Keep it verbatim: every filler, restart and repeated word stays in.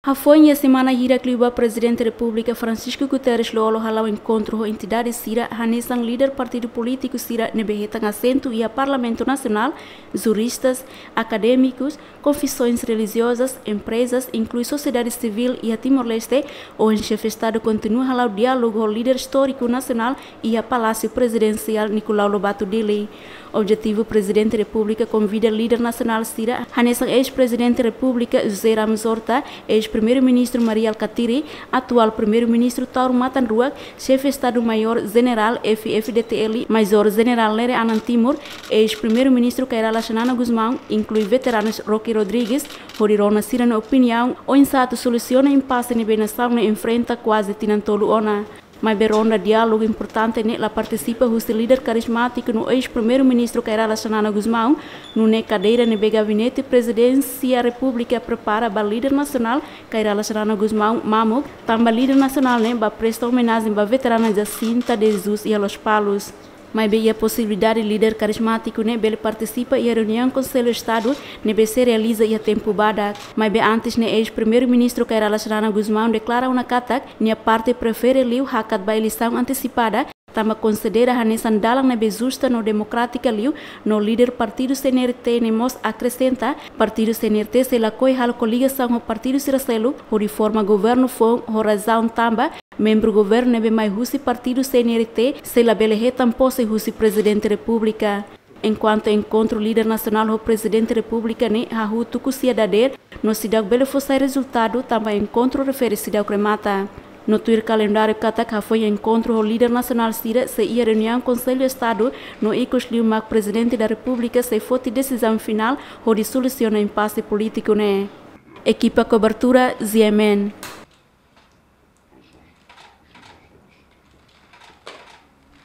Hafoin iha semana hirak liubá, Prezidente Repúblika Francisco Guterres Lú-Olo hala'o enkontru ho entidade sira hanesan líder partidu polítiku sira ne'ebé hetan asentu iha Parlamentu Nasionál, juristas, akadémikus, konfesoens relijiozas, emprezas, inklui sosiedade sivíl iha Timor-Leste. Ohin Xefe Estadu kontinua hala'o diálogu ho líder istóriku nasionál iha Palásiu Prezidensiál Nicolau Lobato, Dili. Objetivu: Prezidente Repúblika konvida líder nasionál sira hanesan eis-Prezidente Repúblika José Ramos Horta, eis-Primeiru-Ministru Mari Alkatiri, atuál Primeiru-Ministru Taur Matan Ruak, Xefe Estadu Maiór Jenerál F-FDTL Maizór Jenerál Lere Anan Timur, eis-Primeiru-Ministru Kay Rala Xanana Gusmão, inklui veteranus Roque Rodrigues, hodi rona sira-nia opiniaun oinsá atu solusiona impase ne'ebé nasaun ne'e enfrenta kuaze tinan tolu ona. Maibé ronda diálogu importante ne'e la partisipa husi líder karizmátiku no eis-Primeiru-Ministru Kay Rala Xanana Gusmão, nune'e kadeira ne'ebé Gabinete Prezidénsia Repúblika prepara ba líder nasionál Kay Rala Xanana Gusmão mamuk, tanba líder nasionál ne'e ba presta omenajen ba veterana Jacinta de Jesus iha Lospalos. Maibé iha posibilidade líder karizmátiku ne'e bele partisipa iha reuniaun Konsellu Estadu ne'ebé sei realiza iha tempu badak. Maibé antes ne'e, eis-Primeiru-Ministru Kay Rala Xanana Gusmão deklara ona katak nia parte prefere liu hakat ba eleisaun antesipada, tanba konsidera hanesan dalan ne'ebé justa no demokrátika liu. No líder partidu C N R T ne'e mós akresenta, partidu C N R T sei lakohi halo koligasaun ho partidu sira seluk hodi forma governu foun, ho razaun tanba membru governu ne'ebé mai husi partidu C N R T sei labele hetan pose husi Prezidente Repúblika. Enkuantu enkontru líder nasionál ho Prezidente Repúblika ne'e hahú tuku sia dadeer, no seidauk bele fó sai rezultadu tanba enkontru refere seidauk remata. No tuir kalendáriu katak hafoin enkontru ho líder nasionál sira sei iha reuniaun Konsellu Estadu, no ikus liu mak Prezidente da Repúblika sei foti desizaun finál hodi solusiona impase polítiku ne'e. Ekipa kobertura, G M N.